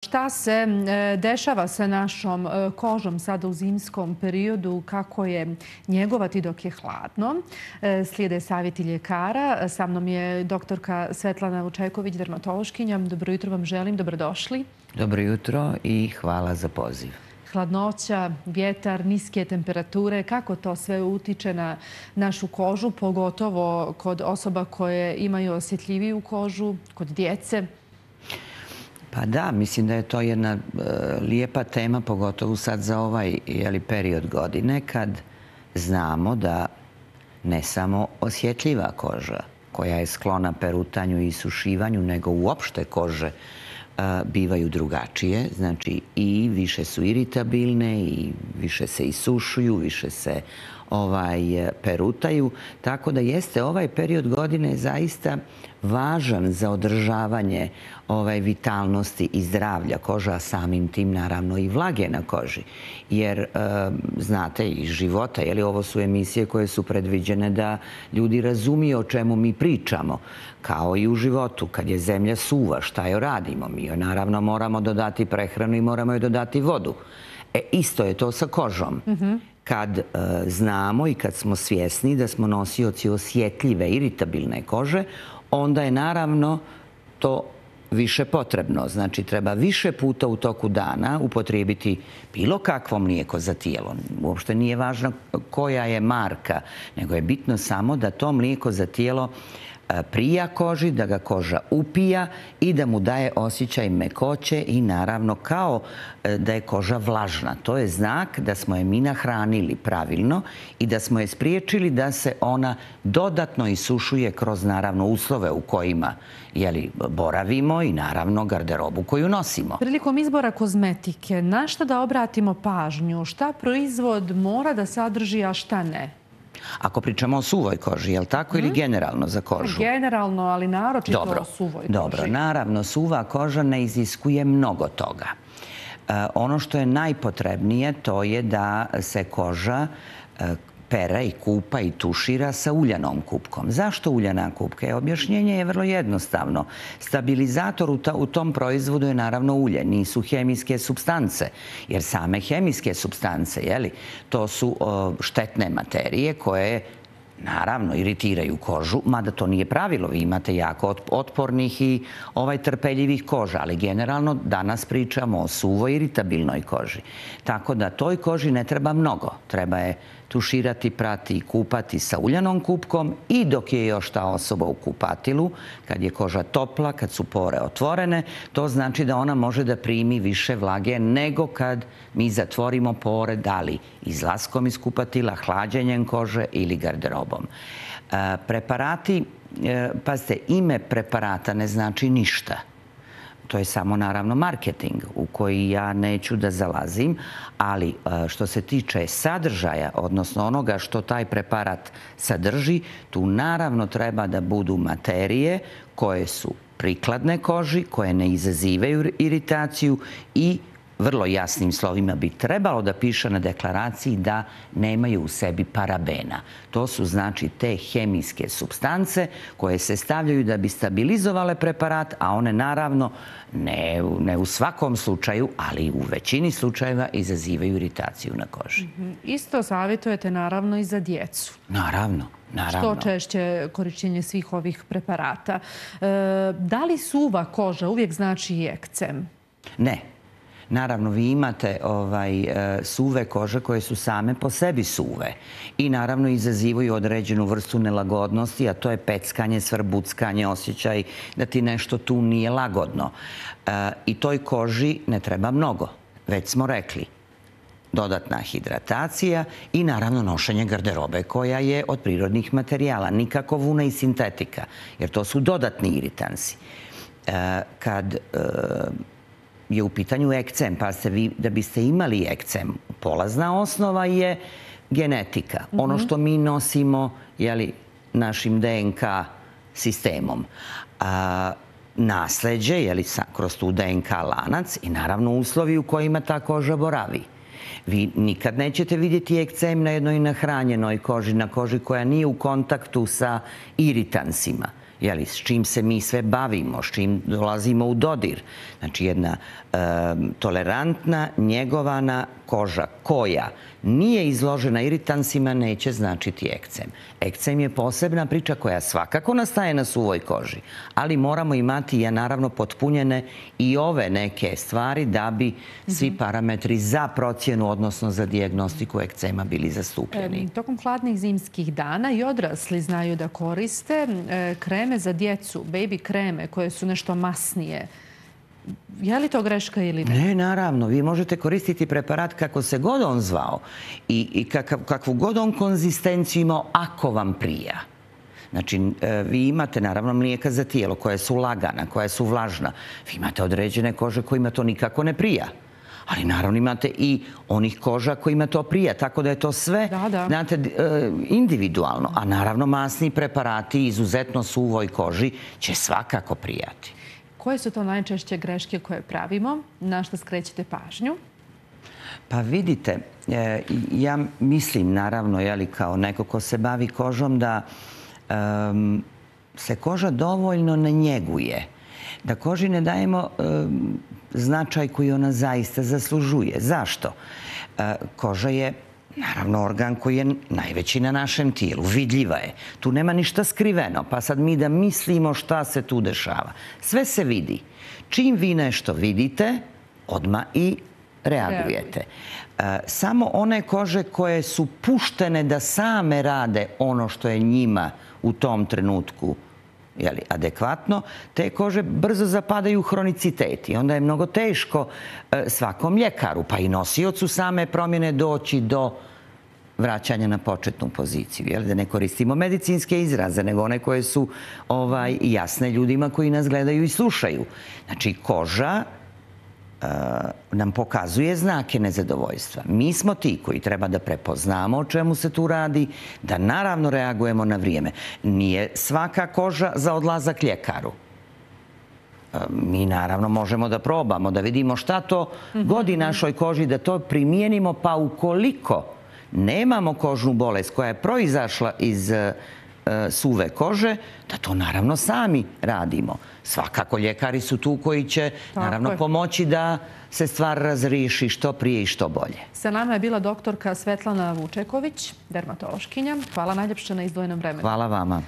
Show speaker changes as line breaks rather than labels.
Šta se dešava sa našom kožom sada u zimskom periodu, kako je njegovati dok je hladno? Slijede savjeti ljekara. Sa mnom je doktorka Svetlana Vučajković, dermatološkinja. Dobro jutro vam želim, dobrodošli.
Dobro jutro i hvala za poziv.
Hladnoća, vjetar, niske temperature, kako to sve utiče na našu kožu, pogotovo kod osoba koje imaju osjetljiviju kožu, kod djece?
Pa da, mislim da je to jedna lijepa tema, pogotovo sad za ovaj period godine, kad znamo da ne samo osjetljiva koža, koja je sklona perutanju i isušivanju, nego uopšte kože bivaju drugačije. Znači i više su iritabilne i više se isušuju, više se perutaju. Tako da jeste ovaj period godine zaista važan za održavanje vitalnosti i zdravlja koža, a samim tim naravno i vlage na koži. Jer znate iz života, ovo su emisije koje su predviđene da ljudi razumiju o čemu mi pričamo. Kao i u životu, kad je zemlja suva, šta joj radimo? Mi joj naravno moramo dodati prehranu i moramo joj dodati vodu. Isto je to sa kožom. Kad znamo i kad smo svjesni da smo nosioci osjetljive, iritabilne kože, onda je naravno to više potrebno. Znači, treba više puta u toku dana upotrijebiti bilo kakvo mlijeko za tijelo. Uopšte nije važno koja je marka, nego je bitno samo da to mlijeko za tijelo prija koži, da ga koža upija i da mu daje osjećaj mekoće i naravno kao da je koža vlažna. To je znak da smo je mi nahranili pravilno i da smo je spriječili da se ona dodatno isušuje kroz naravno uslove u kojima boravimo i naravno garderobu koju nosimo.
Prilikom izbora kozmetike, na šta da obratimo pažnju? Šta proizvod mora da sadrži, a šta ne?
Ako pričamo o suvoj koži, je li tako, ili generalno za kožu?
Generalno, ali naročito o suvoj koži.
Dobro, naravno, suva koža ne iziskuje mnogo toga. Ono što je najpotrebnije to je da se koža pere i kupa i tušira sa uljanom kupkom. Zašto uljana kupka? Objašnjenje je vrlo jednostavno. Stabilizator u tom proizvodu je naravno ulje, nisu hemijske supstance. Jer same hemijske supstance, to su štetne materije koje naravno iritiraju kožu, mada to nije pravilo. Vi imate jako otpornih i trpeljivih koža, ali generalno danas pričamo o suvoj iritabilnoj koži. Tako da toj koži ne treba mnogo. Treba je tuširati, prati i kupati sa uljanom kupkom i dok je još ta osoba u kupatilu, kad je koža topla, kad su pore otvorene, to znači da ona može da primi više vlage nego kad mi zatvorimo pore, da li izlaskom iz kupatila, hlađenjem kože ili garderobom. Preparati, pazite, ime preparata ne znači ništa. To je samo naravno marketing u koji ja neću da zalazim, ali što se tiče sadržaja, odnosno onoga što taj preparat sadrži, tu naravno treba da budu materije koje su prikladne koži, koje ne izazivaju iritaciju i vrlo jasnim slovima bi trebalo da piše na deklaraciji da nemaju u sebi parabena. To su znači te hemijske supstance koje se stavljaju da bi stabilizovale preparat, a one naravno ne u svakom slučaju, ali u većini slučajeva izazivaju iritaciju na koži.
Isto savjetujete naravno i za djecu.
Naravno.
Što češće korišćenje svih ovih preparata. Da li suva koža uvijek znači i ekcem?
Ne. Naravno, vi imate suve kože koje su same po sebi suve i naravno izazivaju određenu vrstu nelagodnosti, a to je peckanje, svrbuckanje, osjećaj da ti nešto tu nije lagodno. I toj koži ne treba mnogo, već smo rekli. Dodatna hidratacija i naravno nošenje garderobe koja je od prirodnih materijala, nikako vuna i sintetika, jer to su dodatni iritansi. Kad je u pitanju ekcem, pa vi da biste imali ekcem, polazna osnova je genetika. Ono što mi nosimo našim DNK sistemom. Nasleđe, kroz tu DNK lanac i naravno uslovi u kojima ta koža boravi. Vi nikad nećete vidjeti ekcem na jednoj nahranjenoj koži, na koži koja nije u kontaktu sa iritansima. s čim se mi sve bavimo, s čim dolazimo u dodir. Znači jedna tolerantna, njegovana koža koja nije izložena iritansima neće značiti ekcem. Ekcem je posebna priča koja svakako nastaje na suvoj koži, ali moramo imati naravno potpunjene i ove neke stvari da bi svi parametri za procjenu, odnosno za dijagnostiku ekcema bili zastupljeni.
Tokom hladnih zimskih dana i odrasli znaju da koriste kreme za djecu, baby kreme koje su nešto masnije. Je li to greška ili ne?
Ne, naravno. Vi možete koristiti preparat kako se god on zvao i kakvu god on konzistenciju imao ako vam prija. Znači, vi imate naravno mlijeka za tijelo koja su lagana, koja su vlažna. Vi imate određene kože kojima to nikako ne prija. Ali naravno imate i onih koža kojima to prija. Tako da je to sve znate, individualno. A naravno masni preparati izuzetno suvoj koži će svakako prijati.
Koje su to najčešće greške koje pravimo? Na što skrećete pažnju?
Pa vidite, ja mislim naravno kao neko ko se bavi kožom da se koža dovoljno ne njeguje. Da koži ne dajemo značaj koji ona zaista zaslužuje. Zašto? Koža je naravno organ koji je najveći na našem tijelu. Vidljiva je. Tu nema ništa skriveno. Pa sad mi da mislimo šta se tu dešava. Sve se vidi. Čim vi nešto vidite, odmah i reagujete. Samo one kože koje su puštene da same rade ono što je njima u tom trenutku adekvatno, te kože brzo zapadaju u hronicitet i onda je mnogo teško svakom ljekaru, pa i nosiocu same promjene doći do vraćanja na početnu poziciju. Da ne koristimo medicinske izraze, nego one koje su jasne ljudima koji nas gledaju i slušaju. Znači, koža nam pokazuje znake nezadovoljstva. Mi smo ti koji treba da prepoznamo o čemu se tu radi, da naravno reagujemo na vrijeme. Nije svaka koža za odlazak ljekaru. Mi naravno možemo da probamo, da vidimo šta to godi našoj koži, da to primijenimo, pa ukoliko nemamo kožnu bolest koja je proizašla iz suve kože, da to naravno sami radimo. Svakako ljekari su tu koji će naravno pomoći da se stvar razriješi što prije i što bolje.
Sa nama je bila doktorka Svetlana Vučeković, dermatološkinja. Hvala najljepše na izdvojenom vremenu.
Hvala vama.